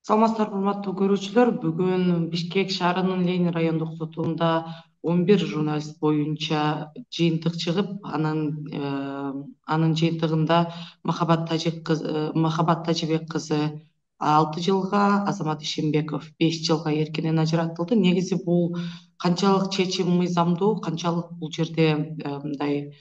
Саламатсыздарбы, урматтуу көрүүчүлөр. Бүгүн Бишкек шаарынын Ленин райондук сотунда 11 журналист боюнча жыйынтык чыгып, анын жыйынтыгында Махабат Тажибек кызы 6 жылга, Азамат Ишембеков 5 жылга эркинен ажыратылды. Негизи бул канчалык чечим мыйзамдуу, канчалык бул жерде мындай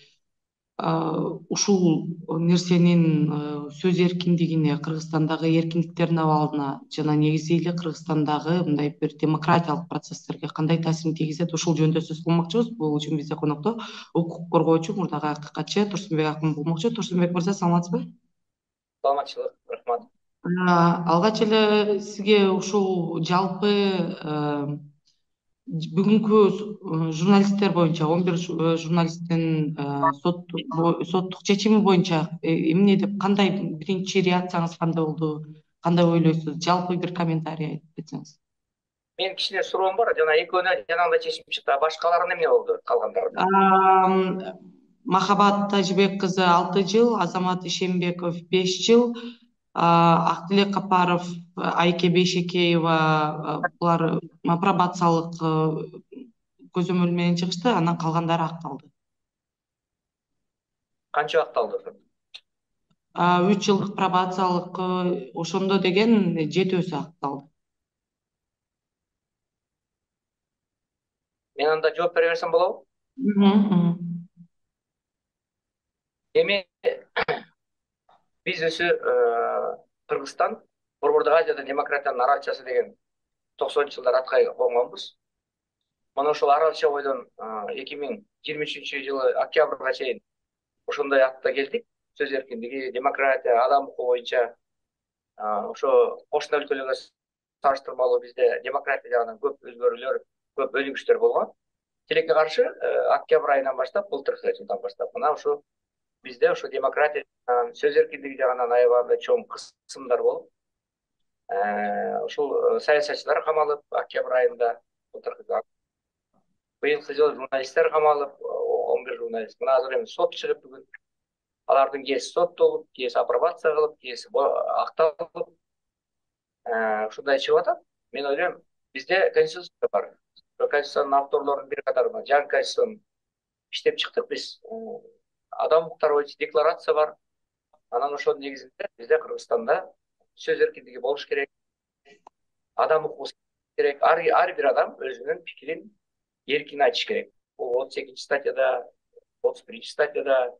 ушул нерсенин сөз эркиндигине, Кыргызстандагы эркиндиктердин абалына жана негизи эле Кыргызстандагы мындай бир демократиялык процесстерге кандай таасирин тийгизет, ушул жөнүндө сөз кылмакчыбыз. Бул үчүн бизде конокто укук коргоочу, мурдагы акыйкатчы Турсунбек акын болмокчу. Турсунбек мырза, саламатсызбы? Саламатчылык, рахмат. Алгач эле сизге ушул жалпы бүгүнкү журналисттер боюнча 11 журналисттин соттук чечими боюнча эмне деп, кандай биринчи реакцияңыз кандай болду, кандай ойлойсуз? Жалпы бир комментарий айтып кетсеңиз. Менин кичине суроом бар. Жана экөөнө жанагындай чечим чыкты. Башкаларына эмне болду? Калгандарына. Махабат Тажибек кызы 6 жыл, Азамат Ишембеков 5 жыл, Актилек Капаров, Айке Бейшекеева булар пробациялык көзөмөл менен чыгышты, анан калгандары акталды. Канча акталды? 3 жылдык пробациялык ошондо деген 7-өсү акталды. Мен анда жооп бере берсем болобу? Эми биз Кыргызстан Борбордук Азияда демократиянын аралчасы деген 90-жылдар аткай конгонбуз. Мына ошол аралча бойдон 2023-жылы октябрга чейин ошондой атта келдик. Сөз эркиндиги, демократия, адам укугу боюнча ошо кошуна өлкөлөргө салыштырмалуу бизде демократия жагынан көп өзгөрүүлөр, көп өнүгүштөр болгон. Тилекке каршы октябрь айынан баштап, былтыркы жылдан баштап мына ушу бизде ошо демократия жагынан, сөз эркиндиги жагынан аябагандай чоң кысымдар болуп, ушул саясатчылар камалып, октябрь айында былтыркы, быйылкы жылы журналисттер камалып, 11 журналист. Мына азыр эми сот чыгып бүгүн. Алардын кээси соттолуп, кээси апробация кылып, кээси акталып, ушундай чыгып атат. Мен ойлойм, бизде конституция бар. Конституциянын авторлорунун бир катары жаңы конституцияны иштеп чыктык биз. Адам укуктары боюнча декларация бар. Анан ошонун негизинде бизде Кыргызстанда сөз эркиндиги болуш керек. Адам укугу керек. Ар бир адам өзүнүн пикирин эркин айтыш керек. Бул 32 статьяда, 31 статьяда,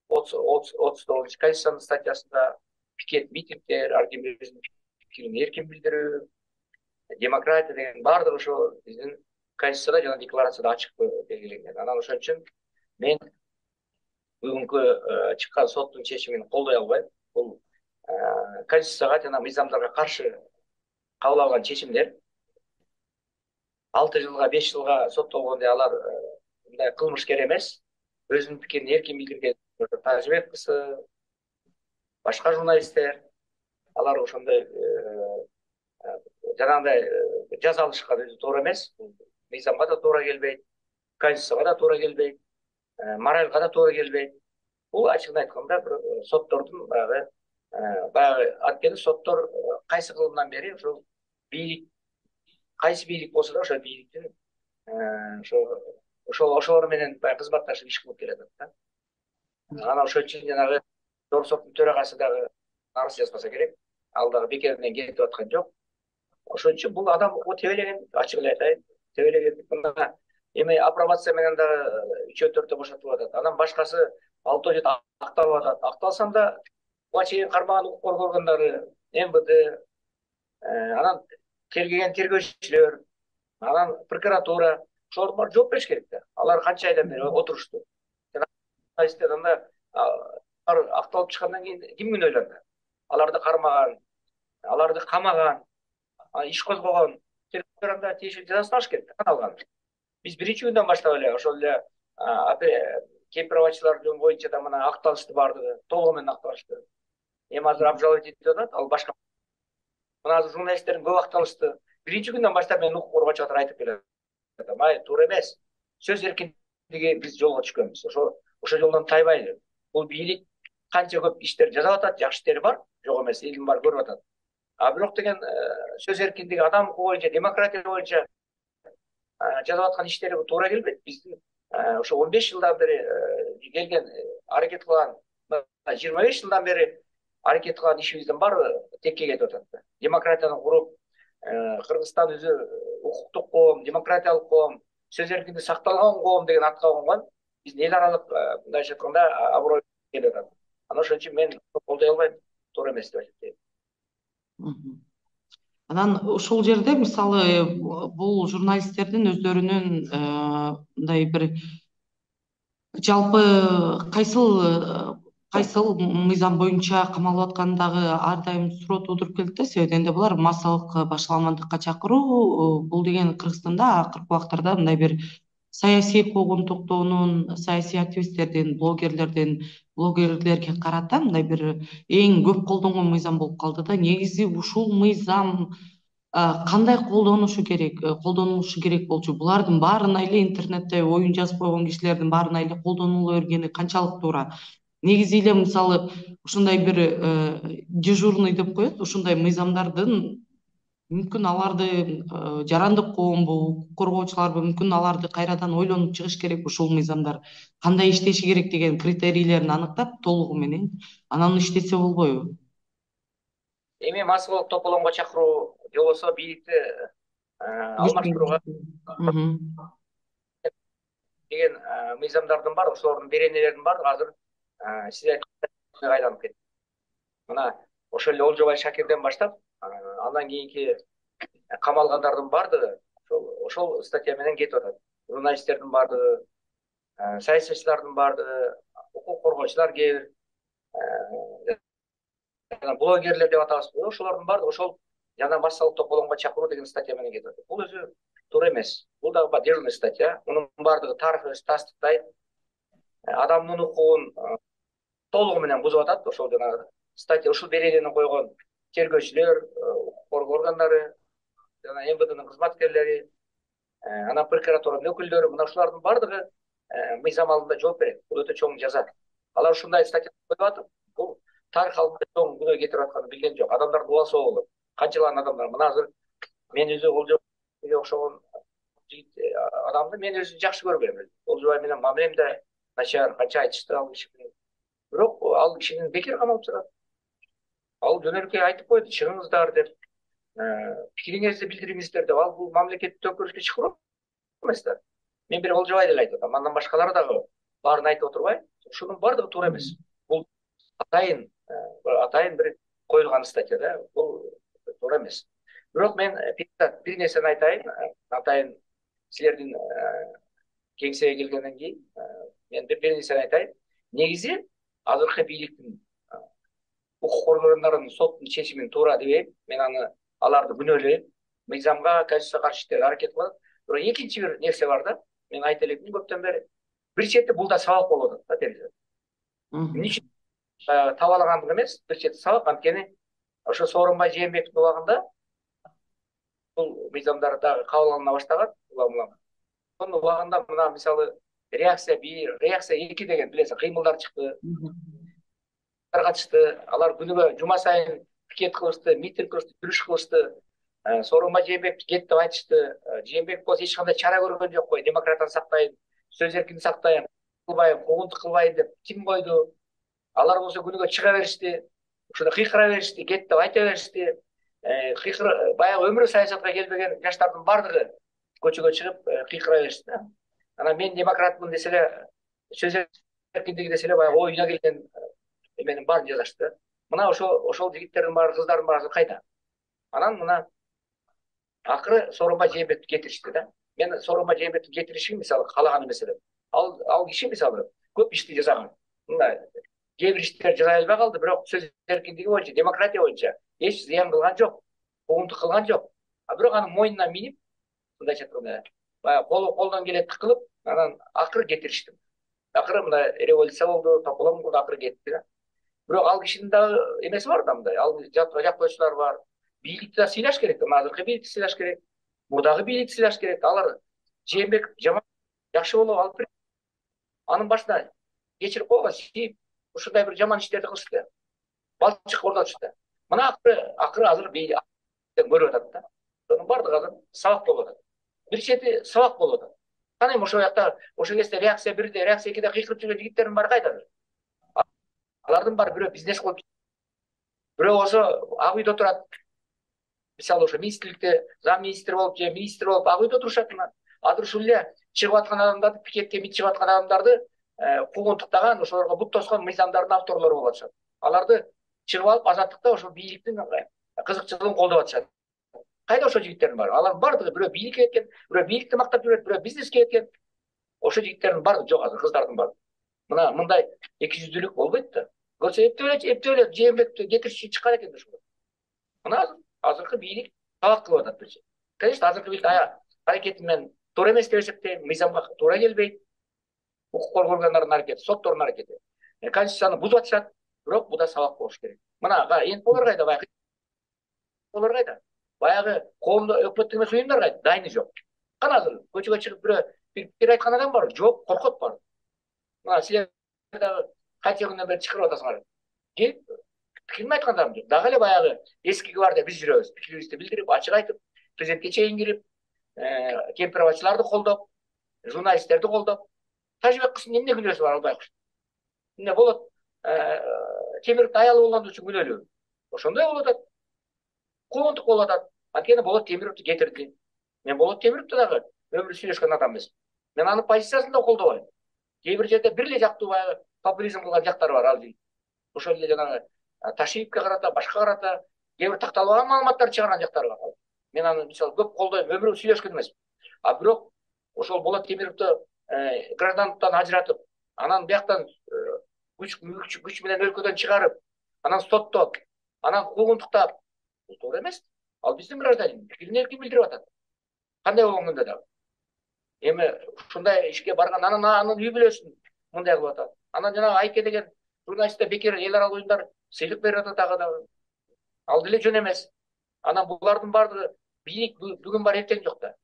39 Конституциянын статьясында пикет, митингдер, ар ким өзүнүн пикирин эркин билдирүү, демократия деген баардыгы ошо биздин Конституцияда жана декларацияда ачык белгиленген. Анан ошон үчүн мен бүгүнкү чыккан соттун чечимин колдой албайм. Бул Конституцияга жана мыйзамдарга каршы кабыл алган чечимдер. 6 жылга, 5 жылга соттолгондо алар мындай кылмышкер эмес. Өзүнүн пикирин эркин билдирген Тажибек кызы, башка журналисттер, алар ошондой жанагындай жаза алышкан өзү туура эмес. Мыйзамга да туура келбейт, Конституцияга да туура келбейт, моральга да туура келбейт. Бул ачыгын айтканда бир соттордун баягы анткени соттор кайсы кылымдан бери ушул бийлик, кайсы бийлик болсо да ошол бийликтин ошолор менен баягы кызматташып иш кылып келатат да. Анан ошон үчүн жанагы Жогорку соттун төрагасы дагы арыз жазбаса керек. Ал дагы бекеринен кетип аткан жок. Ошон үчүн бул адам укугу тебелеген, ачык эле айтайын, тебелеген. Мына эми апробация менен дагы 3-4 бошотулуп атат. Анан башкасы 6 жыл акталып атат. Акталсам да буга чейин кармаган укук коргоо органдары, МВД, анан тергеген тергөөчүлөр, анан прокуратура, ошолор баары жооп бериш керек да. Алар канча айдан бери отурушту. Журналисттер анда акталып чыккандан кийин ким күнөөлөнөт? Аларды кармаган, аларды камаган, иш козгогон тергөөчүлөр анда тийиштүү жазасын алыш керек да, алган. Биз биринчи күндөн баштап эле ошол эле кемпирабачылар боюнча да мына акталышты баардыгы, толугу менен акталышты. Эми азыр обжаловать этип атат, ал башка. Мына азыр журналисттердин көп акталышты. Биринчи күндөн баштап мен укук коргоочу катары айтып келем. Май туура эмес. Сөз эркиндиги биз жолго түшкөнбүз. Ошо жолдон тайбайлы. Бул бийлик канча көп иштер жасап атат, жакшы иштери бар, жок эмес, элдин баары көрүп атат. А бирок деген сөз эркиндиги, адам укугу боюнча, демократия боюнча жасап аткан иштери туура келбейт. Биздин ошо 15 жылдан бери келген, аракет кылган, 25 жылдан бери аракет кылган ишибиздин баары текке кетип атат. Демократияны куруп, Кыргызстан өзү укуктук коом, демократиялык коом, сөз эркиндиги сакталган коом деген атка конгон. Биздин эл аралык мындайча айтканда аброй келип атат. Анан ошон үчүн мен колдой албайм, туура эмес деп айтып Мгм. Анан ушул жерде мисалы бул журналисттердин өздөрүнүн мындай бир жалпы кайсыл мыйзам боюнча камалып аткандагы ар дайым суроо туудуруп келет да. Себеби дегенде булар массалык башаламандыкка чакыруу, бул деген Кыргызстанда акыркы убактарда мындай бир саясий куугунтуктоонун, саясий активисттердин, блогерлерге карата мындай бир эң көп колдонгон мыйзам болуп калды да. Негизи ушул мыйзам кандай колдонулушу керек болчу? Булардын баарына эле интернетте оюн жазып койгон кишилердин баарына эле колдонула бергени канчалык туура? Негизи эле мисалы ушундай бир дежурный деп коет, ушундай мыйзамдардын мүмкүн аларды жарандык коомбу, укук коргоочуларбы, мүмкүн аларды кайрадан ойлонуп чыгыш керек, ушул мыйзамдар кандай иштеши керек деген критерийлерин аныктап толугу менен анан иштесе болбойбу? Эми массалык тополоңго чакыруу же болбосо бийликти алмаштырууга деген мыйзамдардын баары, ошолордун беренелеринин баары азыр сиз айткандай айланып кетти. Мына ошол эле Олжобай Шакирден баштап, андан кийинки камалгандардын баардыгы ошол статья менен кетип атат. Журналисттердин баардыгы, саясатчылардын баардыгы, укук коргоочулар кээ бир блогерлер деп атабызбы, ошолордун баардыгы ошол жана массалык тополоңго чакыруу деген статья менен кетип атат. Бул өзү туура эмес. Бул дагы дежурный статья. Мунун баардыгы тарыхы тастыктайт. Адамдын укугун толугу менен бузуп атат. Ошол жанагы статья, ушул беренени койгон тергөөчүлөр, укук коргоо органдары, жана МВДнын кызматкерлери, анан прокуратуранын өкүлдөрү, мына ушулардын баардыгы мыйзам алдында жооп берет. Бул өтө чоң жаза. Алар ушундай статья коюп атып, бул тарых алдында чоң күнөө кетирип атканын билген жок. Адамдардын убасы болот. Канчалаган адамдар. Мына азыр мен өзү Олжобайга окшогон жигит адамды мен өзү жакшы көрбөйм. Олжобай менен мамилем да начар, канча айтышты ал киши. Бирок ал кишинин бекер камалып жатат. Ал жөнөкөй айтып койду, чыгыңыздар деп, пикириңизди билдириңиздер деп. Ал бул мамлекетти төңкөрүшкө чакыруу эмес да. Мен бир Олжобай деле айтып атам. Андан башкалары дагы баарын айтып отурбай, ушунун баардыгы туура эмес. Бул атайын бир коюлган статья да. Бул туура эмес. Бирок мен бир нерсени айтайын. Атайын силердин кеңсеге келгенден кийин мен бир нерсени айтайын. Негизи азыркы бийликтин укук коргоочуларынын соттун чечимин туура дебейм. Мен аларды күнөөлөйм. Мыйзамга, конституцияга каршы иштери аракет кылат. Бирок экинчи бир нерсе бар да. Мен айта элекмин көптөн бери. Бир чети бул да сабак болуп атат да терезеден. Эмне үчүн табалагандык эмес, бир чети сабак. Анткени ошо Сооронбай Жээнбековдун убагында бул мыйзамдар дагы кабыл алына баштаган. Ошонун убагында мына мисалы реакция 1, реакция 2 деген билесиң кыймылдар чыкты. Катышты. Алар күнүгө жума сайын пикет кылышты, митинг кылышты, жүрүш кылышты. Сооронбай Жээнбеков кет деп айтышты. Жээнбеков болсо эч кандай чара көргөн жок кой. Демократияны сактайын, сөз эркиндигин сактайын, кылбайм, куугунтук кылбайын деп ким койду? Алар болсо күнүгө чыга беришти. Ушуна кыйкыра беришти, кет деп айта беришти. Баягы өмүрү саясатка келбеген жаштардын баардыгы көчөгө чыгып кыйкыра беришти. Анан мен демократмын десе эле, сөз эркиндиги десе эле баягы оюна келген эменин баарын жазышты. Мына ошол жигиттердин баары, кыздардын баары кайда? Анан мына акыры Сооронбай Жээнбековду кетиришти да. Мен Сооронбай Жээнбековду кетиришин мисалы каалаган эмес элем. Ал киши мисалы көп ишти жасаган. Мындай кээ бир иштер жасай албай калды, бирок сөз эркиндиги боюнча, демократия боюнча эч зыян кылган жок, куугунтук кылган жок. Бирок анын мойнуна минип, мындайча айтканда, баягы колдон келетти кылып, анан акыры кетиришти. Акыры мындай революция болду, тополоң болду, акыры кетти да. Бирок ал кишинин дагы эмеси бар да мындай. Ал жактоочулар бар. Бийликти да сыйлаш керек. Азыркы бийликти сыйлаш керек. Мурдагы бийликти сыйлаш керек. Алар Жээнбеков жаман жакшы болуп алып берет. Анын башына кечирип койгон, ушундай бир жаман иштерди кылышты. Балчык орнотушты. Мына акыры азыр көрүп атат да. Сонун баардыгы азыр сабак болуп атат. Бир чети сабак болуп атат. Кана эми ошол жакта ошол кезде реакция 1-де, реакция 2-де кыйкырып жүргөн жигиттердин баары кайда? Алардын баары бирөө бизнес кылып, бирөө болсо ак үйдө турат. Мисалы ошо министрликте зам министр болуп же министр болуп ак үйдө турушат. Азыр ушул эле чыгып аткан адамдарды, пикетке мит чыгып аткан адамдарды куугунтуктаган, ошолорго бут тоскон мыйзамдардын авторлору болуп атышат. Аларды чыгып алып азаттыкта ошол бийликтин кызыкчылыгын колдоп атышат. Кайда ошол жигиттердин баары? Алардын баардыгы бирөө бийликке кеткен, бирөө бийликти мактап жүрөт, бирөө бизнеске кеткен. Ошол жигиттердин баардыгы жок азыр, кыздардын баары. Мына мындай эки жүздүүлүк болбойт да. Көрсө эптеп Жээнбековду кетириши чыккан экен ошол. Мына азыркы бийлик талап кылып атат бирчи. Конечно, азыркы бийлик аракети менен туура эмес деп эсептейм, мыйзамга туура келбейт. Укук коргоо органдарынын аракети, соттордун аракети. Конституцияны бузуп атышат, бирок буда сабак болуш керек. Мына НПОлор кайда, баягы НПОлор кайда? Баягы коомдук өкмөттүк эмес уюмдар кайда? Дайыны жок. Кана азыр көчөгө чыгып бирөө бир пикир айткан адам бар? Жок, коркот бар. Мына силер дагы канча күндөн бери чакырып атасыңар. Келип пикирин айткан адам жок. Дагы эле баягы эски гвардия биз жүрөбүз. Пикирибизди билдирип, ачык айтып, президентке чейин кирип, кемпир-абачыларды колдоп, журналисттерди колдоп. Тажыбек кыздын эмне күнөөсү бар албай коюш. Эмне болот? Темировдун аялы болгон үчүн күнөөлүү. Ошондой болуп атат. Куугунтук болуп атат. Анткени Болот Темировду кетирди. Мен Болот Темировду дагы өмүрү сүйлөшкөн адам эмесмин. Мен анын позициясын да колдобойм. Кээ бир жерде бир эле жактуу баягы популизм кылган жактары бар ал жигит. Ошол эле жанагы Ташиевке карата, башка карата кээ бир такталбаган маалыматтарды чыгарган жактары бар. Мен аны мисалы көп колдойм, өмүрү сүйлөшкөн эмесмин. Бирок ошол Болот Темировду граждандыктан ажыратып, анан бияктан күч менен өлкөдөн чыгарып, анан соттоп, анан куугунтуктап, бул туура эмес. Ал биздин гражданин, пикирин эркин билдирип атат. Кандай болгон күндө дагы. Эми ушундай ишке барган анын үй бүлөсүн мындай кылып атат. Анан жанагы Айке деген журналистке бекер эл аралык уюмдар сыйлык берип атат дагы. Ал деле жөн эмес. Анан булардын баардыгы бийлик бүгүн бар, эртең жок да.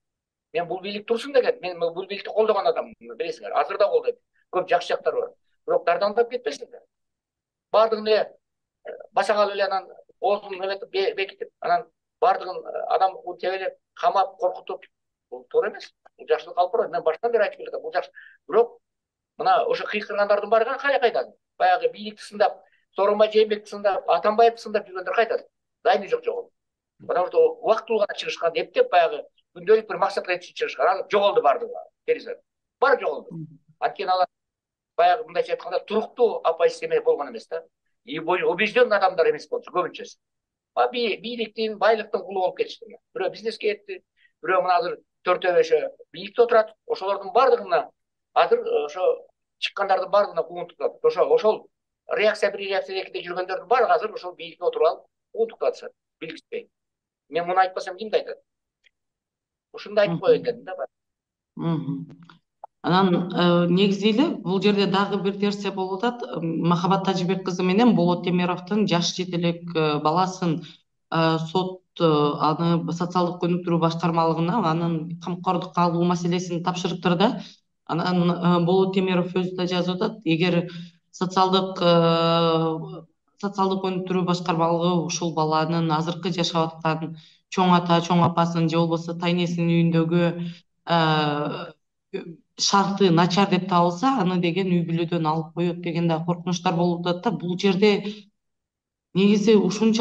Мен бул бийлик турсун деген, мен бул бийликти колдогон адаммын, билесиңер. Азыр да колдойм. Көп жакшы жактары бар. Бирок дардандап кетпесиңер. Баардыгын эле баса калып эле анан оозун эметип бекитип, анан баардыгын адам тебелеп, камап, коркутуп, бул туура эмес. Бул жакшылык алып барбайт. Мен баштан бери айтып келатам, бул жакшы. Бирок мына ошо кыйкыргандардын баары кайда? Баягы бийликти сындап, Сооронбай Жээнбековду сындап, Атамбаевди сындап жүргөндөр кайда? Дайыны жок. Потому что убактылуу гана чыгышкан, эптеп баягы күндөлүк бир максатка жетишип чыгышкан. Анан жоголду баардыгы. Баары жоголду. Анткени алар баягы мындайча айтканда туруктуу оппозиция болгон эмес да. И убежденный адамдар эмес болчу көбүнчөсү. Бийликтин, байлыктын кулу болуп кетишти. Бирөө бизнеске кетти, бирөө мына азыр 4-5 бийликте отурат. Ошолордун баардыгына азыр ошо чыккандардын баардыгына куугунтуктап. Ошол реакция 1, реакция 2-де жүргөндөрдүн баардыгы азыр ошол бийликке отуруп алып куугунтуктатышат. Билгиспей. Мен муну айтпасам кимди айтат? Ушунду айтып коеюн дедим да. Анан негизи эле бул жерде дагы бир нерсе болуп атат. Махабат Тажыбек кызы менен Болот Темировдун жаш жетелек баласын сот аны социалдык өнүктүрүү башкармалыгына анын камкордукка алуу маселесин тапшырыптыр да. Анан Болот Темиров өзү да жазып атат, эгер социалдык өнүктүрүү башкармалыгы ушул баланын азыркы жашап аткан чоң ата, чоң апасынын же болбосо тайнесинин үйүндөгү шарты начар деп табылса, аны деген үй бүлөдөн алып коет деген да коркунучтар болуп атат да. Бул жерде негизи ушул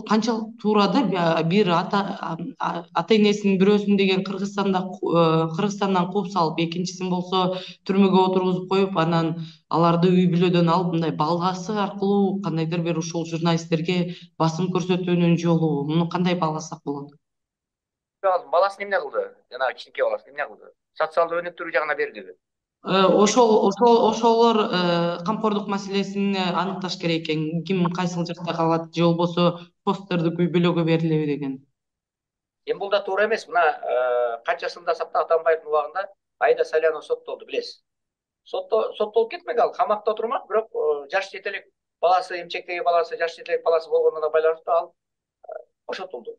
канчалык туура да, бир ата энесинин бирөөсүн деген Кыргызстандан кууп салып, экинчисин болсо түрмөгө отургузуп коюп, анан аларды үй бүлөдөн алып мындай баласы аркылуу кандайдыр бир ушул журналисттерге басым көрсөтүүнүн жолу, муну кандай бааласак болот? Баласын эмне кылды? Жанагы кичинекей баласын эмне кылды? Социалдык өнүктүрүү жагына бердиби? Ошолор камкордук маселесин аныкташ керек экен. Ким кайсыл жакта калат, же болбосо постердик үй бүлөгө берилеби деген. Эми бул да туура эмес. Мына канчасын сактап Атамбаевдин убагында Аида Салянова соттолду, билесиз. Соттолуп кетмек, ал камакта отурмак, бирок жаш жетелек баласы, эмчектеги баласы, жаш жетелек баласы болгонуна байланыштуу ал бошотулду.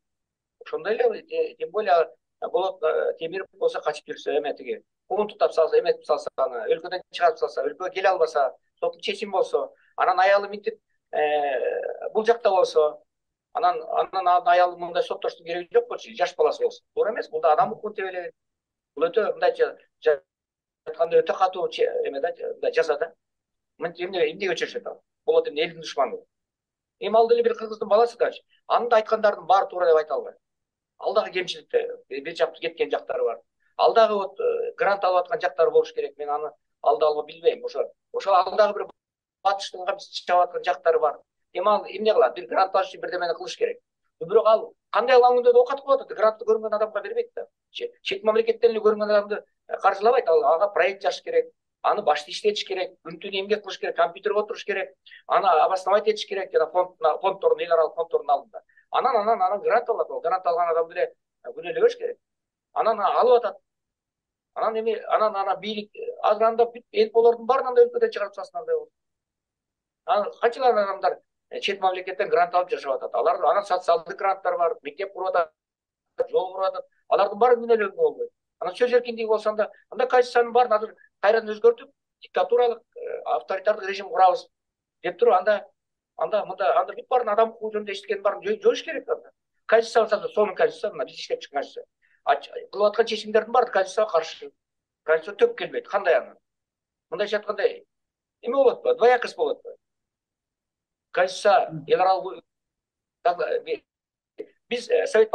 Ошондой эле, тем более Болот Темиров болсо качып жүрсө, эме тиги куугунтуктап салса, эметип салса, аны өлкөдөн чыгарып салса, өлкөгө келе албаса, соттун чечими болсо, анан аялы мынтип бул жакта болсо, анан аялы мындай соттоштун кереги жок болчу, жаш баласы болсун. Туура эмес, бул да адам укугун тебелеген. Бул өтө мындайча айтканда өтө катуу эме да, мындай жаза да. Эмнеге чечет ал? Болот эмне элдин душманы. Эми ал деле бир кыргыздын баласы дачы. Анын да айткандардын баары туура деп айта албайм. Ал дагы кемчиликте, бир жакты кеткен жактары бар. Ал дагы вот грант алып аткан жактары болуш керек. Мен аны алды билбейм. Ошо ал дагы бир батыштын камчысы чабып аткан жактары бар. Эми ал эмне кылат? Бир грант алыш үчүн бирдемени кылыш керек. Бирок ал кандай алган күндө да окат кылып атат. Грантты көрүнгөн адамга бербейт да. Чет мамлекеттен эле көрүнгөн адамды каржылабайт. Ага проект жазыш керек. Аны башты иштетиш керек, күн түнү эмгек кылыш керек, компьютерге отуруш керек, аны обосновать этиш керек жана фонддордун, эл аралык фонддордун алдында. Анан грант алат. Ал грант алган адамды эле күнөөлөбөш керек. Анан алып атат. Анан бийлик азыр анда эл болордун баарын андай өлкөдөн чыгарып салсын андай болсо. Анан канчалар адамдар чет мамлекеттен грант алып жашап атат. Алар анан социалдык гранттар бар, мектеп куруп атат, жол куруп атат. Алардын баары күнөөлөнгө болбойт. Анан сөз эркиндиги болсо анда Конституциянын баарын азыр кайрадан өзгөртүп, диктатуралык, авторитардык режим курабыз деп туруп, анда бүт баарын адам укугу жөнүндө эчтекенин баарын жоюш керек анда. Конституция болсо сонун конституция, мына биз иштеп чыккан конституция. Кылып аткан чечимдердин баары конституцияга каршы. Конституция төп келбейт. Кандай аны? Мындайча айтканда эме болот атпайбы? Двоякость болот атпайбы? Конституция эл аралык биз Совет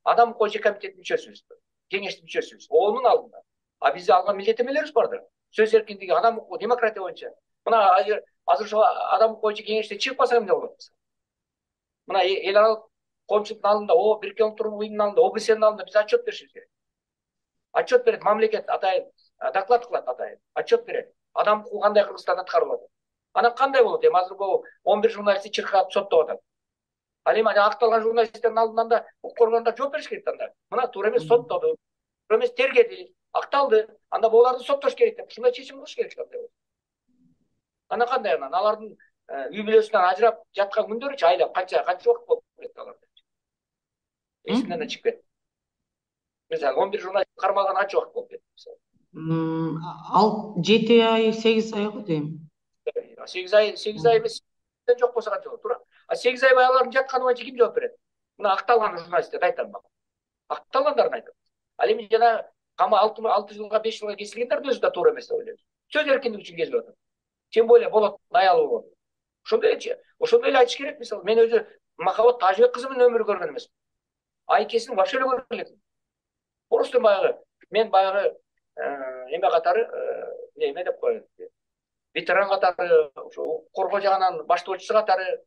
адам укугу комитетинин мүчөсүбүз, кеңештин мүчөсүбүз. Оонун алдында. А бизде алган милдеттенмелерибиз бар да. Сөз эркиндиги, адам укугу, демократия боюнча. Мына азыр ошо адам укугу боюнча кеңештен чыгып калсак эмне болот? Мына эл аралык коомчулуктун алдында, Бириккен Улуттар Уюмунун алдында, ОБСЕнин алдында биз отчет беришибиз керек. Отчет берет мамлекет атайын, доклад кылат атайын, отчет берет. Адам укугу кандай Кыргызстанда аткарылып атат. Анан кандай болот? Эми азыр бул 11 журналистти чыркап соттоп атат. Ал эми акталган журналисттердин алдында да укук коргоондар жооп бериш керек анда. Мына туура эмес соттоду, туура эмес тергеди, акталды. Анда буларды соттош керек деп ушундай чечим кылыш керек андай болот. Анан кандай алардын үй бүлөсүнөн ажырап жаткан күндөрүчү айлап канча убакыт болуп кетти аларда. Эсимден да чыгып кетти. Мисалы 11 журналист кармалган канча убакыт болуп кетти мисалы. Ал 7 ай, 8 ай го дейм. 8 ай эмес, жок болсо канча болот, туура? 8 ай алардын жатканы боюнча ким жооп берет? Мына акталган журналисттерди айтам мен. Акталгандарын айтам. Ал эми жана кама 6 жылга 5 жылга кесилгендердин өзү да туура эмес деп ойлойм. Сөз эркиндиги үчүн кесилип атат. Тем более болот аялы болгон. Ошондой эле айтыш керек. Мисалы мен өзү Махабат Тажыбек кызы менен өмүр көргөн эмесмин. Айкесин вообще эле көргөн элекмин. Просто мен баягы эме катары эме деп коет. Ветеран катары, ошо укук коргоо жагынан баштоочусу катары,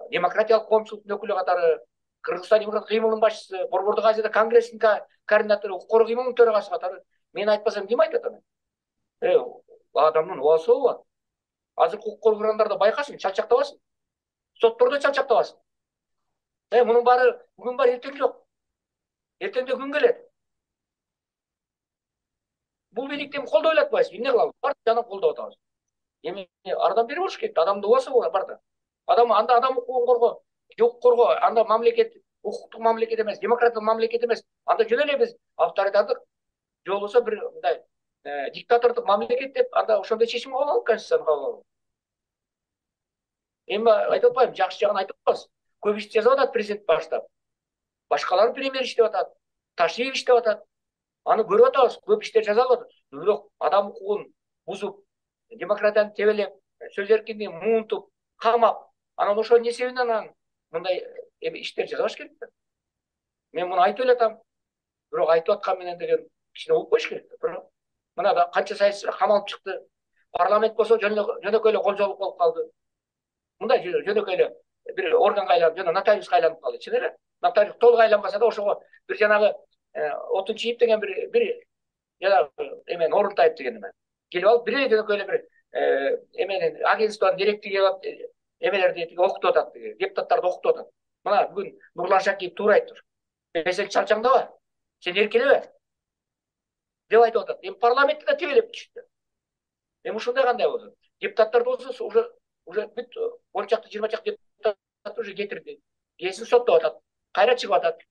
демократиялык коомчулуктун өкүлү катары, Кыргызстан демократиялык кыймылынын башчысы, Борбордук Азияда конгрессинин координатору, укук коргоо кыймылынын төрагасы катары мен айтпасам ким айтат аны? Адамдын убасы болот. Азыр укук коргоогондар да байкасын, чалчактабасын. Соттордо чалчактабасын. Мунун баары бүгүн бар, эртең жок. Эртеңде күн келет. Бул бийликти колдой эле атпайбыз. Эмне кылабыз? Бар жана колдоп атабыз. Эми ардан бери болуш керек. Адамдын убасы бар да. Адам укугун коргоо, укук коргоо, анда мамлекет укуктук мамлекет эмес, демократиялык мамлекет эмес. Анда жөн эле биз авторитардык же болбосо бир мындай диктатордук мамлекет деп анда ошондой чечим кабыл алып конституцияны кабыл алып. Эми айтып атпайбы, жакшы жагын айтып атабыз. Көп иш жазып атат президент баштап. Башкалар премьер иштеп атат, Ташиев иштеп атат. Аны көрүп атабыз, көп иштер жазылып атат. Бирок адам укугун бузуп, демократияны тебелеп, сөз эркиндигин муунтуп, камап, анан ошо эмне себебинен мындай иштер жазбаш керек да. Мен муну айтып эле атам. Бирок айтып аткан менен деген кичине угуп коюш керек да. Мына да канча саясатчылар камалып чыкты. Парламент болсо жөнөкөй эле колжолук болуп калды. Мындай жөнөкөй эле бир органга айланып, жана нотариуска айланып калды. Чын эле. Нотариус толук айланбаса да ошого бир жанагы Отунчиев деген бир жанагы эмен Орунтаев деген эме келип алып, бир жөнөкөй эле бир эменин агентствонун директори келип алып, эмелерди окутуп атат, депутаттарды окутуп атат. Мына бүгүн Нурлан Шакиев туура айттыр. Сен чалчаңдаба, сен эркелебе деп айтып атат. Эми парламентти да тебелеп түштү. Эми ушундай кандай болду? Депутаттар болсо уже бүт 10 чакты 20 чакты депутат уже кетирди. Кесин соттоп атат. Кайра чыгып атат.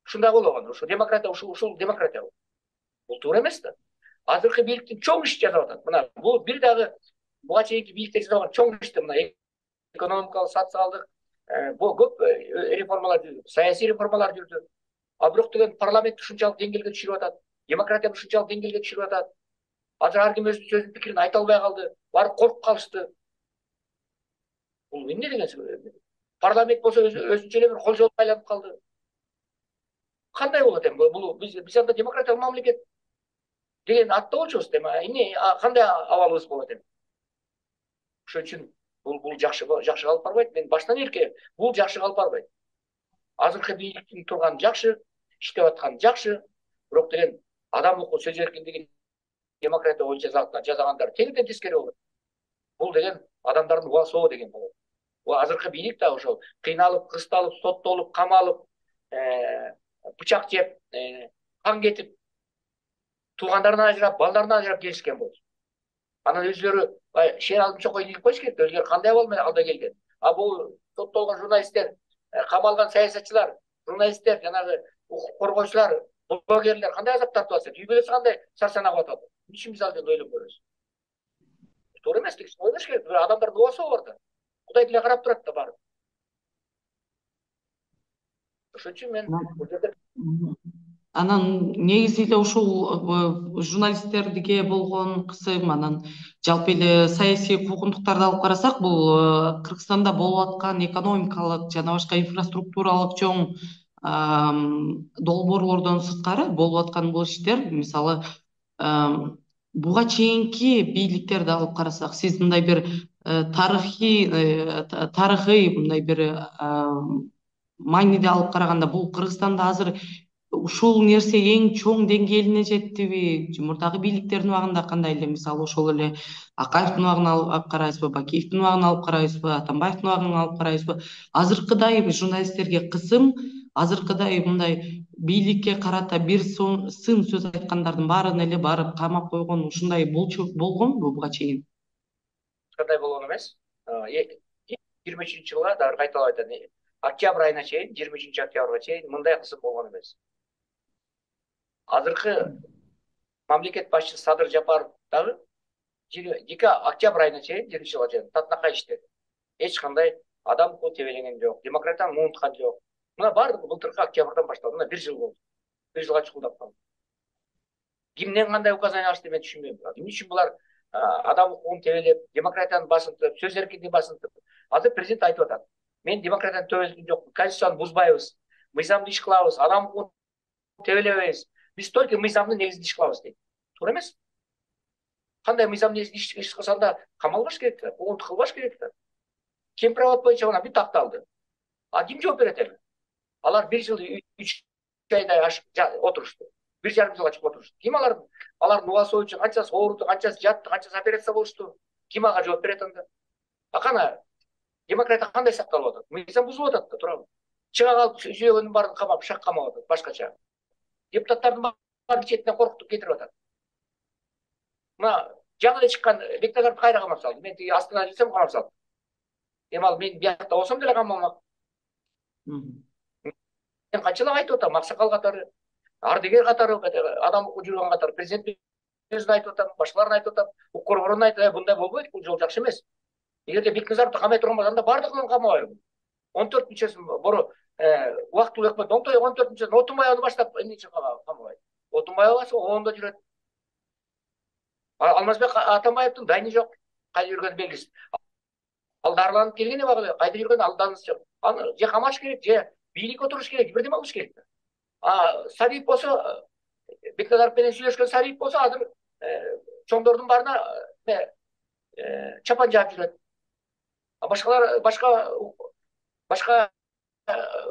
Ушундай болгон. Ушул демократия, ушул демократия. Бул туура эмес да. Азыркы бийликтин чоң иш жасап атат. Мына бул бир дагы буга чейинки бийликтер жасаган чоң ишти, мына экономикалык, социалдык, көп реформалар жүрдү, саясий реформалар жүрдү. А бирок деген парламент ушунчалык деңгээлге түшүрүп атат, демократияны ушунчалык деңгээлге түшүрүп атат. Азыр ар ким өзүнүн сөзүн пикирин айта албай калды, барып коркуп калышты. Бул эмне деген? Парламент болсо өзүнчө эле бир кол жолго айланып калды. Кандай болот эми? Бул биз анда демократиялык мамлекет деген атта болчубуз эми. Эмне кандай абалыбыз болот эми? Ошон үчүн бул жакшы калып барбайт. Мен баштан эрке бул жакшы калып барбайт. Азыркы бийликтин турганы жакшы, иштеп атканы жакшы, бирок деген адам укугу, сөз эркиндиги, демократия боюнча жасагандар тегиден тескери болот. Бул деген адамдардын убасоо деген болот. Азыркы бийлик да ошол кыйналып, кысталып, соттолуп, камалып, бычак жеп, кан кетип, туугандарынан ажырап, балдарынан ажырап келишкен болчу. Анан өзлөрү шер алдым чокой ийип коюш керек. Өзлөрү кандай абал менен алда келген. А бул соттолгон журналисттер, камалган саясатчылар, журналисттер, жанагы укук коргоочулар, блогерлер кандай азап тартып атышат? Үй бүлөсү кандай сарсанап атат? Эмне үчүн биз ал жерде ойлонуп көрөбүз? Туура эмес, тигиз ойлош керек. Адамдардын убасы бар да. Кудай деле карап турат да барып. Ошон үчүн мен бул жерде анан негизи эле ушул журналисттерге болгон кысым, анан жалпы эле саясий куугунтуктарды алып карасак, бул Кыргызстанда болуп аткан экономикалык жана башка инфраструктуралык чоң долбоорлордон сырткары болуп аткан бул иштер. Мисалы, буга чейинки бийликтерди алып карасак, сиз мындай бир тарыхый мындай бир мааниде алып караганда, бул Кыргызстанда азыр ушул нерсе эң чоң деңгээлине жеттиби? Мурдагы бийликтердин убагында кандай эле? Мисалы, ошол эле Акаевдин убагын алып карайбызбы, Бакиевдин убагын алып карайбызбы, Атамбаевдин убагын алып карайбызбы? Азыркыдай журналисттерге кысым, азыркыдай мындай бийликке карата бир сын сөз айткандардын баарын эле барып камап койгон, ушундай болгонбу буга чейин? кандай болгон эмес. 23 жылга дагы кайталап айтат. Октябрь айына чейин, 23 октябрга чейин мындай кысым болгон эмес. Азыркы мамлекет башчысы Садыр Жапаров дагы 2 октябрь айына чейин, 20 жылга чейин татынакай иштеди. Эч кандай адам укугу тебелеген жок, демократияны унуткан жок. Мына баардыгы былтыркы октябрдан башталды. Мына 1 жыл болду. 1 жылга чукулдап калды. Кимден кандай указание алышты мен түшүнбөйм. Эмне үчүн булар адам укугун тебелеп, демократияны басынтып, сөз эркиндигин басынтып? Азыр президент айтып атат. Мен демократияны тебелген жокмун, конституцияны бузбайбыз, мыйзамды иш кылабыз, адам укугун тебелебейбиз. Биз только мыйзамдын негизинде иш кылабыз дейт. Туура эмес. Кандай мыйзамдын негизинде иш кылсаң да камалбаш керек да, куугунтук кылбаш керек да. Кемпирабад боюнча мына бир такталды. А ким жооп берет эми? Алар 1 жыл 3 айдай отурушту. 1,5 жылга чыгып отурушту. Ким алардын убасы боюнча канчасы ооруду, канчасы жатты, канчасы операция болушту? Ким ага жооп берет анда? Кана демократия кандай сакталып атат? Мыйзам бузулуп атат да, туурабы? Чыга калып сүйөгөндүн баарын камап, шак камап атат, башкача. Депутаттардын баарын четинен коркутуп кетирип атат. Мына жаңы эле чыккан Бекназаровду кайра камап салды. Мен тиги астына жүрсөм камап салды. Эми ал мен биякта болсом деле камамак. Мен канчалап айтып атам, Аксакал катары, ардыгер катары, адам укуп жүргөн катары, президент өзүн айтып атам, башкаларын айтып атам, укук коргоонун айтып, мындай болбойт, бул жол жакшы эмес. Эгерде Бекназаровду камай турган болсо, анда баардыгын камабайбы? 14 мүчөсүн бору убактылуу өкмөт 14 мүчөсүн Отунбаевду баштап эмне үчүн камабайт? Отунбаев болсо оңдо жүрөт. Алмазбек Атамбаевдин дайыны жок, кайда жүргөнү белгисиз. Ал дарыланып келген убагында кайда жүргөнү алданысы жок. Аны же камаш керек, же бийлик отуруш керек, бирдеме кылыш керек. Сарипов болсо, Бекназаров менен сүйлөшкөн Сарипов болсо, азыр чоңдордун баарына чапан жаап жүрөт. Башкалар башка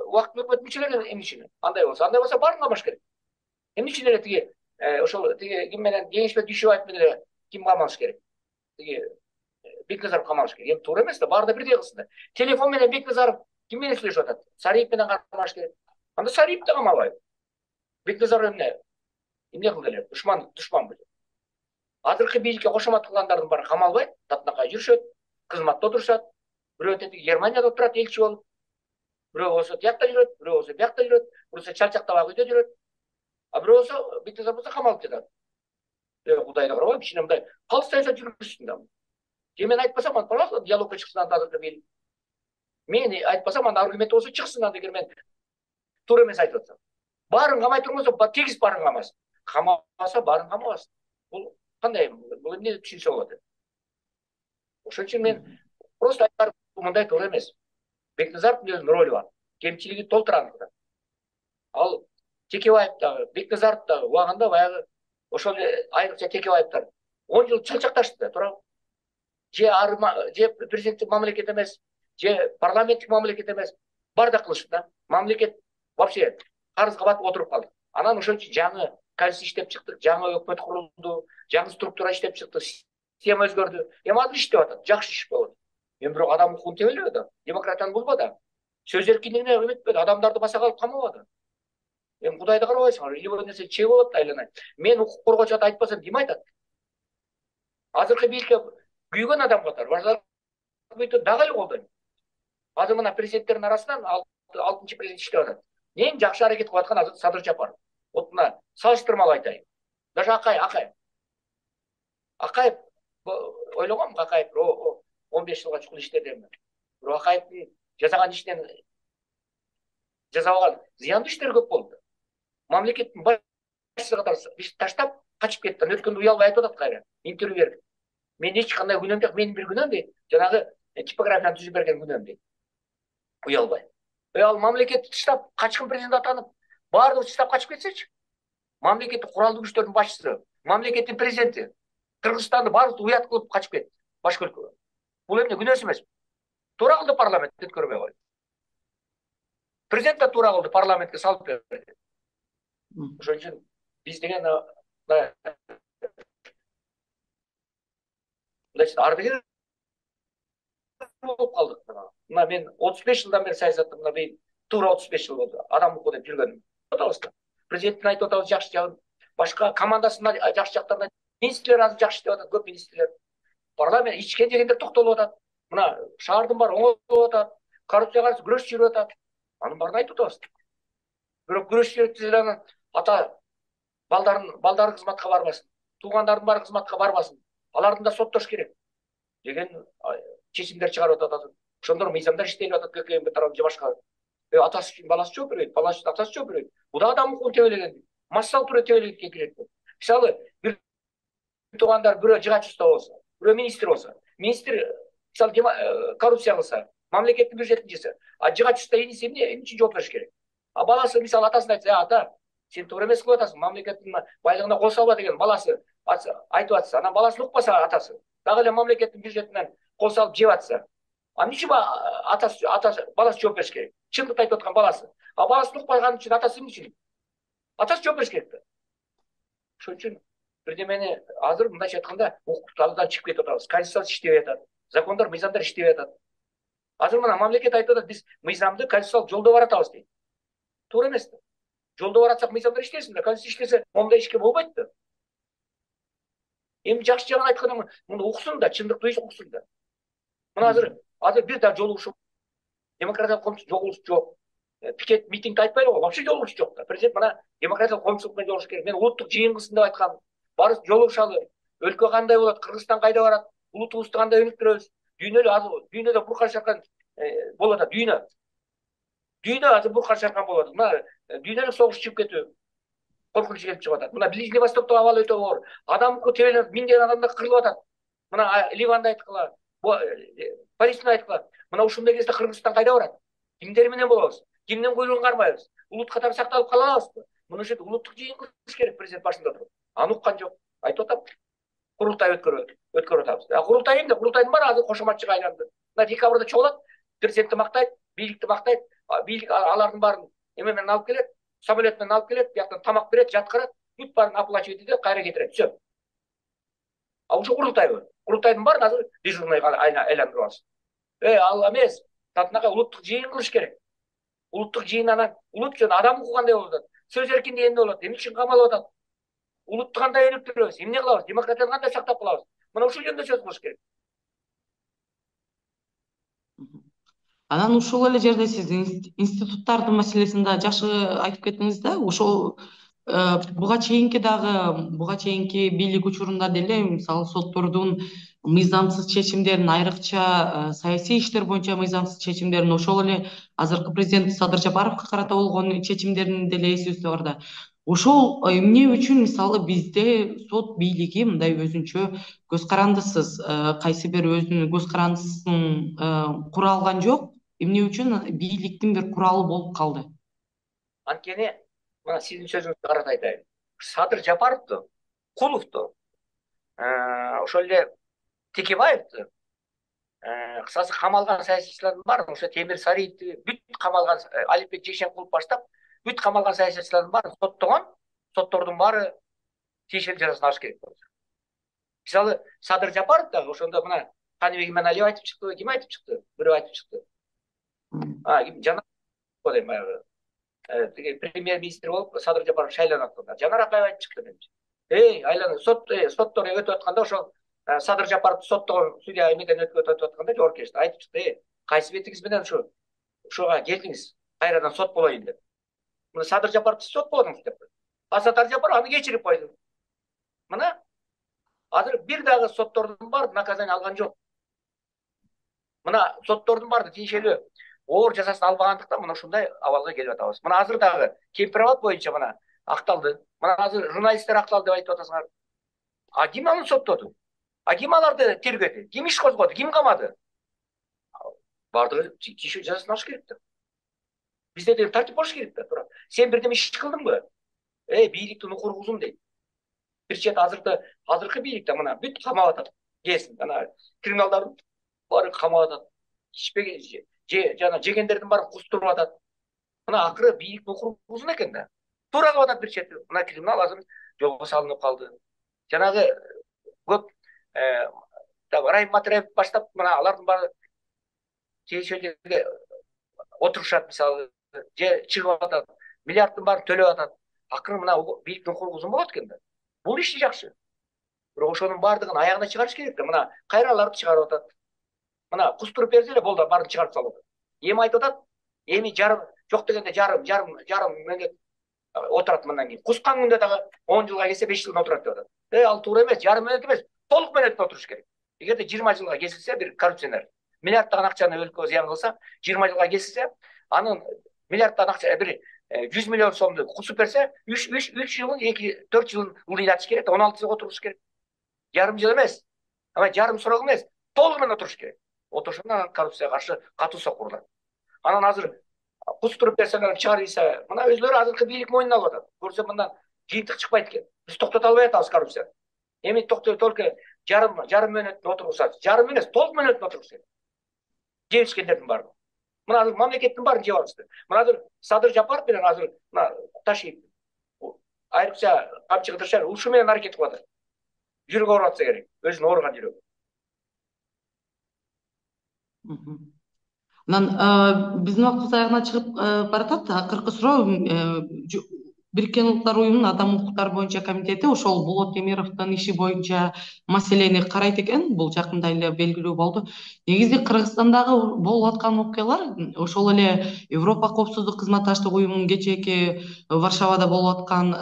убактылуу өкмөт мүчөлөрү эмне үчүн? Андай болсо баарын камаш керек. Эмне үчүн эле тиги ошол тиги ким менен Кеңешбек Дүйшөбаев менен ким камалыш керек? Тиги Бекназаров камалыш керек. Эми туура эмес да, баары да бирдей кылсын да. Телефон менен Бекназаров ким менен сүйлөшүп атат? Сарипов менен камалыш керек. Анда Сарипов да камалбайбы? Бекназаров эмне кылды эле? Душманбы? Азыркы бийликке кошомат кылгандардын баары камалбайт, татынакай жүрүшөт, кызматта отурушат. Бирөө тетиги Германияда отурат элчи болуп. Бирөө болсо тиякта жүрөт, бирөө болсо биякта жүрөт, бирөө болсо чалчактабак үйдө жүрөт. А бирөө болсо Бекназаров болсо камалып жатат. Кудайга карабай, кичине мындай калыс саясат жүргүзсүн да. Же мен айтпасам, пожалуйста, диалогко чыксын азыркы бийлик. Мен айтпасам анда аргумент болсо чыксын, анда эгер мен туура эмес айтып атсам. Баарын камай турбосо тегиз баарын камасын. Камаса баарын камабасын. Бул кандай? Бул эмне деп түшүнсө болот? Ошон үчүн мен просто айтарым, мындай туура эмес. Бекназаровдун өзүнүн ролу бар. Кемчилиги толтура анда. Ал Текебаев дагы, Бекназаров дагы убагында баягы ошол айрыкча Текебаевдер 10 жыл чалчакташты да, туурабы? Же президенттик мамлекет эмес, же парламенттик мамлекет эмес, бар да кылышты да. Мамлекет вообще карызга батып отуруп калды. Анан ошон үчүн жаңы конституция иштеп чыктык, жаңы өкмөт курулду, жаңы структура иштеп чыкты, система өзгөрдү. Эми азыр иштеп атат, жакшы иш болот. Эми бирок адам укугун тебелбеди да, демократияны булбады. Сөз эркиндигине эметпеди, адамдарды баса калып камабады. Эми Кудайды карабайсыңар, любой нерсе чек болот да айланайын. Мен укук коргоочу айтпасам ким айтат? Азыркы бийликке күйгөн адам катары башкалар бүйтүп дагы эле колдойм. Азыр мына президенттердин арасынан 6-чы президент иштеп атат. Эң жакшы аракет кылып аткан азыр Садыр Жапаров. Вот мына салыштырмалуу айтайын. Даже Акаев ойлогонмун, Акаев 15 жылга чукул иштеди. Бирок Акаевдин жасаган иштен жасабаган зыяндуу иштер көп болду. Мамлекеттин башчысы катары таштап качып кетти. Өткөндө уялбай айтып атат кайра. Интервью берип. Мен эч кандай күнөөм жок, менин бир күнөөм дейт. Жанагы типографияны түзүп берген күнөөм дейт. Уялбай. Ал мамлекетти таштап качкын президент атанып, баардыгы таштап качып кетсечи. Мамлекеттик куралдуу күчтөрдүн башчысы, мамлекеттин президенти Кыргызстанды баардыгы уят кылып качып кетти башка өлкөгө. Бул эмне күнөөсү эмеспи? Туура кылды парламент өткөрбөй койду. Президент да туура кылды, парламентке салып берди. Ошон үчүн биз деген ардыгер болуп калдык. Мына мен 35 жылдан бери саясатта, мына бийин туура 35 жыл болду. Адам укугу деп жүргөнүм. Атабызда. Президенттин айтып атабыз жакшы жагын, башка командасынын жакшы жактарына, министрлер азыр жакшы иштеп атат, көп министрлер. Парламент ичкен жегендер токтолуп атат. Мына шаардын баары оңолуп атат, коррупцияга каршы күрөш жүрүп атат. Анын баарын айтып атабыз. Бирок күрөш жүрүп ата балдары кызматка барбасын, туугандардын баары кызматка барбасын, алардын да соттош керек деген чечимдер чыгарып атат. Ошондор мыйзамдар иштелип атат, ККМ тарабы же башка. Атасы үчүн баласы жооп бербейт, баласы үчүн атасы жооп бербейт. Бул да адам укугун тебелеген, массалык түрдө тебелегенге кирет. Мисалы, бир туугандар бирөө жыгач уста болсо, бирөө министр болсо, министр мисалы коррупция кылса, мамлекеттин бюджетин жесе, жыгач уста иниси эмне үчүн жооп бериш керек? Баласы мисалы атасына айтса, ата, сен туура эмес кылып атасың, мамлекеттин байлыгына кол салба деген баласы айтып атса, анан баласын укпаса атасы, дагы эле мамлекеттин бюджетинен кол салып жеп атса, эмне үчүн атасы баласы жооп бериш керек? Чындыкты айтып аткан баласы. Баласын укпаган үчүн атасы эмне үчүн? Атасы жооп бериш керек да. Ошон үчүн бирдемени азыр мындайча айтканда укук талдан чыгып кетип атабыз. Конституция иштебей атат, закондор, мыйзамдар иштебей атат. Азыр мына мамлекет айтып атат, биз мыйзамды конституциялык жолдо баратабыз дейт. Туура эмес да. Жолдо баратсак мыйзамдар иштесин да, конституция иштесе моундай ишке болбойт да. Эми жакшы жагын айтканда муну уксун да, чындыкты уксун да. Мына азыр бир да жолугушу демократиялык коомчулук жолугуш жок. Пикет митингди айтпайлы го, вообще жолугуш жок да. Президент мына демократиялык коомчулук менен жолугуш керек. Мен улуттук жыйын кылсын деп айткам. Барып жолугушалы. Өлкө кандай болот, Кыргызстан кайда барат, улутубузду кандай өнүктүрөбүз? Дүйнөдө буркан шаркан болуп атат, дүйнө азыр буркан шаркан болуп атат. Мына дүйнөлүк согуш чыгып кетүү коркунуч келип чыгып атат. Мына Ближний Востоктогу абал өтө оор. Адам укугу тебеленип, миңдеген адамдар кырылып атат. Мына Ливанды айткыла, Палестина айткыла. Мына ушундай кезде Кыргызстан кайда барат? Кимдер менен болобуз? Кимдин куйругун кармайбыз? Улут катары сакталып кала алабызбы? Муну үчүн улуттук жыйын кылыш керек, президент башында туруп. Аны уккан жок. Айтып атам. Курултай өткөрүп атабыз. Курултай эмне? Курултайдын баары азыр кошоматчыга айланды. Мына декабрда чогулат, президентти мактайт, бийликти мактайт, бийлик алардын баарын эме менен алып келет, самолет менен алып келет, бияктан тамак берет, жаткырат, бүт баарын оплачивать этет, кайра кетирет, все. Ушу курултайбы? Курултайдын баарын азыр дежурный айландырып алышты. Ал эмес, татынакай улуттук жыйын кылыш керек. Улуттук жыйындан улут үчүн адам укугу кандай болуп атат? Сөз эркиндиги эмне болот? Эмне үчүн камалып атат? Улутту кандай өнүктүрөбүз? Эмне кылабыз? Демократияны кандай сактап калабыз? Мына ушул жөнүндө сөз кылыш керек. Анан ушул эле жерде сиз институттардын маселесин да жакшы айтып кеттиңиз да. Ошол буга чейинки бийлик учурунда деле мисалы соттордун мыйзамсыз чечимдерин, айрыкча саясий иштер боюнча мыйзамсыз чечимдерин, ошол эле азыркы президент Садыр Жапаровго карата болгон чечимдерин деле эсибизде бар да. Ошол эмне үчүн мисалы бизде сот бийлиги мындай өзүнчө көз карандысыз, кайсы бир өзүнүн көз карандысын кура алган жок? Эмне үчүн бийликтин бир куралы болуп калды? Анткени мына сиздин сөзүңүзгө карата айтайын. Садыр Жапаровду, Куловду, ошол эле Текебаевди, кысасы камалган саясатчылардын баары, ошо Темир Сариевди бүт камалган, Алипбек Жекшенкулов баштап бүт камалган саясатчылардын баарын соттогон, соттордун баары тиешелүү жазасын алыш керек болот. Мисалы Садыр Жапаров дагы ошондо мына Каныбек Иманалиев айтып чыкты, ким айтып чыкты? Бирөө айтып чыкты. Жанар дейм баягы премьер-министр болуп Садыр Жапаров шайланат. Жанар Акаева айтып чыкты менимче. Айланып соттор өтүп атканда ошол Садыр Жапаровду соттогон судья эмеден өтүп атканда жоопкерчилик айтып чыкты. Кайсы бетиңиз менен ушуга келдиңиз? Кайрадан сот болоюн деп. Мына Садыр Жапаровду сот болдуңуз деп. Садыр Жапаров аны кечирип койду. Мына азыр бир дагы соттордун баары наказание алган жок. Мына соттордун баары тиешелүү оор жазасын албагандыктан мына ушундай абалга келип атабыз. Мына азыр дагы Кемпирабад боюнча мына акталды. Мына азыр журналисттер акталды деп айтып атасыңар. Ким аны соттоду? Ким аларды тергөдү? Ким иш козгоду? Ким камады? Баардыгы тиешелүү жазасын алыш керек да. Бизде де тартип болуш керек да. Тура сен бирдеме иш кылдыңбы? Бийликтин укугусун дейт. Бир чет азыркы бийликте мына бүт камап атат. Кесин ана криминалдардын баары камап атат. Ишпеген жана жегендердин баарын кустуруп атат. Мына акыры бийликтин укугусун экен да. Туура кылып атат бир чети. Мына криминал азыр жолго салынып калды. Жанагы көп Райым Матраев баштап мына алардын баары тиешелүү жерге отурушат, мисалы же чыгып атат, миллиарддын баарын төлөп атат. Акыры мына бийликтин укугусун болот экен да. Бул иши жакшы. Бирок ошонун баардыгын аягына чыгарыш керек да. Мына кайраларды чыгарып атат. Мына кустуруп берсе эле болду, баарын чыгарып салат. Эми айтып атат, эми жок дегенде жарым мөөнөт отурат мындан кийин. Кускан күндө дагы 10 жылга келсе 5 жылдан отурат деп атат. Ал туура эмес, жарым мөөнөт эмес, толук мөөнөттө отуруш керек. Эгерде 20 жылга кесилсе бир коррупционер миллиарддаган акчаны өлкөгө зыян кылса, 20 жылга кесилсе, анын миллиарддан акча бир 100 миллион сомду кусуп берсе, 3 жылын 4 жылын ылдыйлатыш керек, 16 жыл отуруш керек. Жарым жыл эмес, ама жарым срок эмес, толугу менен отуруш керек. Отурушунда коррупцияга каршы катуу сокурулат. Анан азыр кустуруп берселер чыгарыйса, мына өзлөрү азыркы бийлик мойнуна алып атат. Көрсө мындан жыйынтык чыкпайт экен. Биз токтото албай атабыз коррупцияны. Эми только жарым мөөнөттү отургузат. Жарым эмес, толук мөөнөттү отуруш керек. Жебишкендердин баары. Мына азыр мамлекеттин баарын жеп алышты. Мына азыр Садыр Жапаров менен азыр мына Ташиев айрыкча камчы Кыдыршаев ушу менен аракет кылып атат. Жүрөгү ооруп атса керек, өзүнүн ооруган жүрөгү. Анан биздин убактыбыз аягына чыгып баратат. Акыркы суроо Бириккен Улуттар Уюмунун Адам укуктары боюнча комитети ошол Болот Темировдун иши боюнча маселени карайт экен. Бул жакында эле белгилүү болду. Негизи Кыргызстандагы болуп аткан окуялар ошол эле Европа коопсуздук кызматташтык уюмунун кечээки Варшавада болуп аткан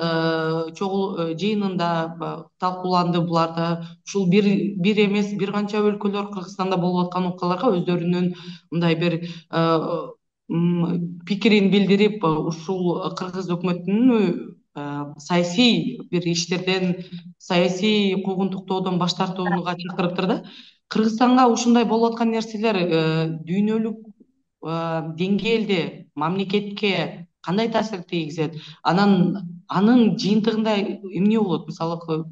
чогуу жыйынында талкууланды. Буларда ушул бир эмес бир канча өлкөлөр Кыргызстанда болуп аткан окуяларга өздөрүнүн мындай бир пикирин билдирип, ушул кыргыз өкмөтүнүн саясий бир иштерден, саясий куугунтуктоодон баш тартууга чакырыптыр да. Кыргызстанга ушундай болуп аткан нерселер дүйнөлүк деңгээлде мамлекетке кандай таасир тийгизет? Анын жыйынтыгында эмне болот? Мисалы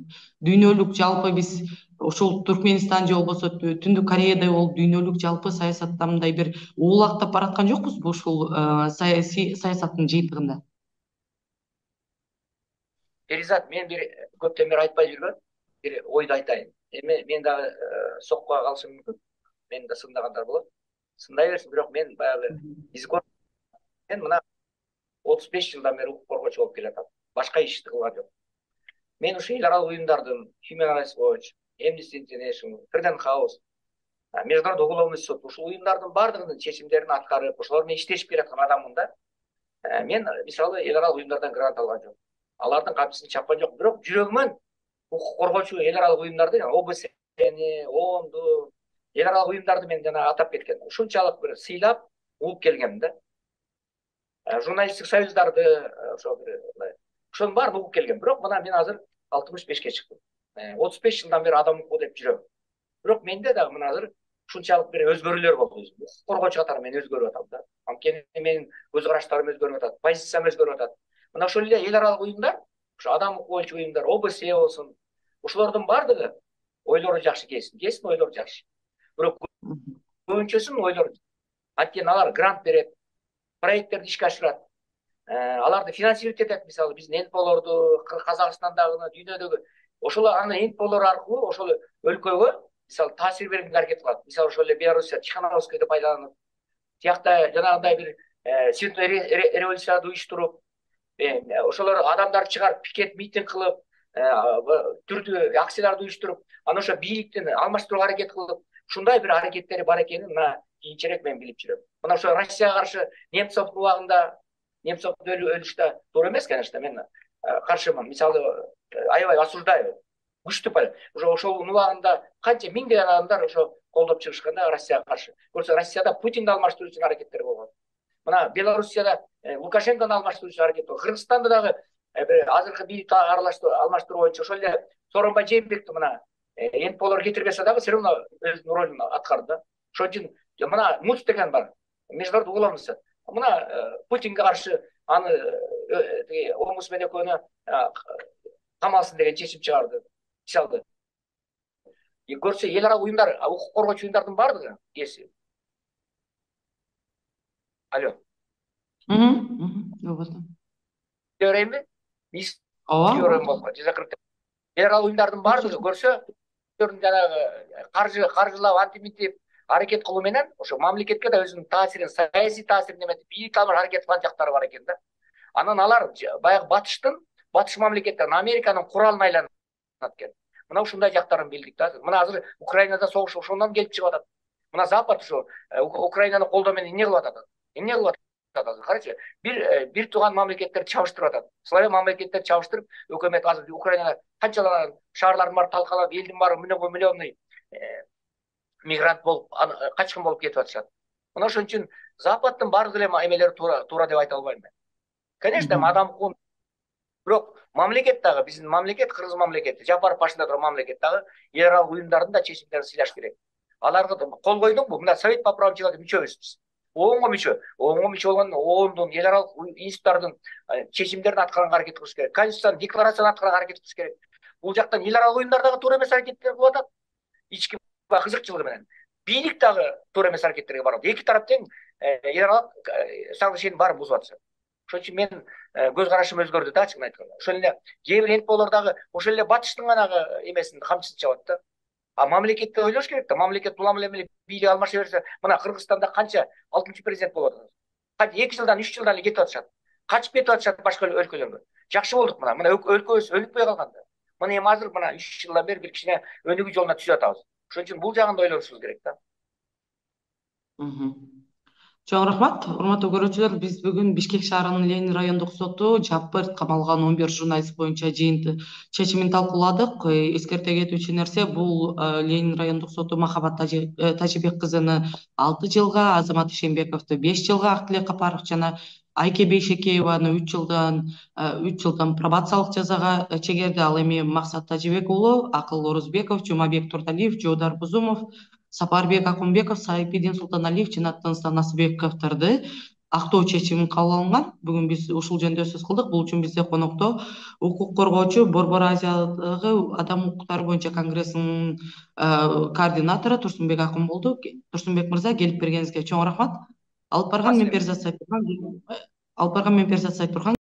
дүйнөлүк жалпы биз ошол Туркменистан же болбосо Түндүк Кореядай болуп дүйнөлүк жалпы саясатта мындай бир уулактап бараткан жокпузбу ушул саясаттын жыйынтыгында? Перизат, мен бир көптөн бери айтпай жүргөн бир ойду айтайын. Эми мен дагы соккуга калышым мүмкүн. Мени да сындагандар болот. Сындай берсин, бирок мен баягы мен мына 35 жылдан бери укук коргоочу болуп келатам. Башка ишти кылган жок. Мен ушу эл аралык уюмдардын Human Rights Watch, Amnesty International, Freedom House, Международный уголовный суд, ушул уюмдардын баардыгынын чечимдерин аткарып, ошолор менен иштешип келаткан адаммын да. Мен мисалы эл аралык уюмдардан грант алган жок. Алардын камчысын чапкан жок, бирок жүрөгүмөн укук коргоочу эл аралык уюмдарды, ОБСЕ, ООНду, эл аралык уюмдарды мен жана атап кеткен. Ушунчалык бир сыйлап угуп келгем да. Журналисттик союздарды ошо бир ошонун баарын угуп келгем. Бирок мына мен азыр 65ке чыктым. 35 жылдан бери адам укуу деп жүрөм. Бирок менде дагы мына азыр ушунчалык бир өзгөрүүлөр болду. Укук коргоочу катары мен өзгөрүп атам да. Анткени менин көз караштарым өзгөрүп атат, позициям өзгөрүп атат. Мына ошол эле эл аралык уюмдар, ошо адам укук боюнча уюмдар, ОБСЕ болсун, ошолордун баардыгы ойлору жакшы кесин ойлору жакшы. Бирок көбүнчөсүнүн ойлору анткени алар грант берет, проекттерди ишке ашырат, аларды финансировать этет. Мисалы биздин НПОлорду, Казакстандагы, дүйнөдөгү ошол аны НПОлор аркылуу ошол өлкөгө мисалы таасир бергенге аракет кылат. Мисалы ошол эле Белоруссия Тихановскийди пайдаланып, тиякта жанагындай бир цветной революцияды уюштуруп, ошолор адамдар чыгарып пикет митинг кылып, түрдүү акцияларды уюштуруп, анан ошо бийликтин алмаштырууга аракет кылып, ушундай бир аракеттери бар экенин мына кийинчерээк мен билип жүрөм. Мына ошо Россияга каршы Немцовдун убагында, Немцовду өлүштү туура эмес, конечно, мен каршымын. Мисалы аябай осуждаю. Күчтүү пай. Ошол убагында канча миңдеген адамдар ошо колдоп чыгышканда Россияга каршы. Көрсө Россияда Путинди алмаштыруу үчүн аракеттер болгон. Мына Белоруссияда Лукашенкону алмаштыруу үчүн аракет болгон. Кыргызстанда дагы азыркы бийликти алмаштыруу боюнча ошол эле Сооронбай Жээнбекти мына НПОлор кетирбесе дагы все равно өзүнүн ролун аткарды да. Ошон үчүн мына МУЦ деген бар. Международный уголовный суд. Мына Путинге каршы аны омусмен экөөнү камалсын деген чечим чыгарды. Мисалы көрсө эл аралык уюмдар, укук коргоочу уюмдардын баардыгы кеси. Алло. Көрөйүнбү? Ооба. Эл аралык уюмдардын баардыгы көрсө жанагы каржылап антимитип аракет кылуу менен ошо мамлекетке да өзүнүн таасирин, саясий таасирин эметип, бийлик алып аракет кылган жактары бар экен да. Анан алар баягы батыш мамлекеттерин, Американын куралына айланат экен. Мына ушундай жактарын билдик да. Мына азыр Украинада согуш ошондон келип чыгып атат. Мына Запад ошо Украинаны колдоо менен эмне кылып атат? Эмне кылып атат? Карачы, бир тууган мамлекеттерди чабыштырып атат. Славян мамлекеттерди чабыштырып, өкмөт азыр Украинада канчалаган шаарлардын баары талкалап, элдин баары миллионный мигрант болуп, качкын болуп кетип атышат. Мына ошон үчүн Западдын баардык эле эмелери туура деп айта албайм мен. Конечно, адам укугун. Бирок мамлекет дагы, биздин мамлекет, Кыргыз мамлекети, Жапаров башында турган мамлекет дагы эл аралык уюмдардын да чечимдерин сыйлаш керек. Аларга кол койдуңбу? Мына Совет по правам человека мүчөбүз биз. ООНго мүчө болгон ООНдун, эл аралык институттардын чечимдерин аткарганга аракет кылыш керек. Конституциянын декларацияны аткарганга аракет кылыш керек. Бул жактан эл аралык уюмдар дагы туура эмес аракеттер кылып атат. Ички кызыкчылыгы менен. Бийлик дагы туура эмес аракеттерге барат. Эки тарап тең эл аралык соглашениенин баарын бузуп атышат. Ошон үчүн мен көз карашым өзгөрдү да, чынын айтканда. Ошол эле кээ бир НПОлор дагы ошол эле батыштын гана эмесин камчысын чабат да. А мамлекетти ойлош керек да. Мамлекет улам эле бийлик алмаша берсе, мына Кыргызстанда канча 6-чы президент болуп атат. Канча 2 жылдан 3 жылдан эле кетип атышат. Качып кетип атышат башка өлкөлөргө. Жакшы болдук мына. Мына өлкөбүз өнүкпөй калган да. Мына эми азыр мына 3 жылдан бери бир кичине өнүгүү жолуна түзүп атабыз. Ошон үчүн бул жагын да ойлонушубуз керек да. Чоң рахмат. Урматтуу көрүүчүлөр, биз бүгүн Бишкек шаарынын Ленин райондук соту жапырт камалган 11 журналист боюнча чечимин талкууладык. Эскерте кетүүчү нерсе, бул Ленин райондук соту Махабат Тажибек кызыны 6 жылга, Азамат Ишембековду 5 жылга, Актилек Капаров жана Айке Бейшекееваны 3 жылдан пробациялык жазага чегерди. Ал эми Максат Тажибек уулу, Акыл Орузбеков, Жумабек Турдалиев, Жоодар Бузумов, Сапарбек Акунбеков, Сайпидин Султаналиев жана Тыныстан Насыбековдорду актоо чечими кабыл алынган. Бүгүн биз ушул жөнүндө сөз кылдык. Бул үчүн бизде конокто укук коргоочу Борбор Азиядагы адам укуктары боюнча конгрессинин координатору Турсунбек Акун болду. Турсунбек мырза, келип бергениңизге чоң рахмат. Алып барган мен Перзат Сайпурган.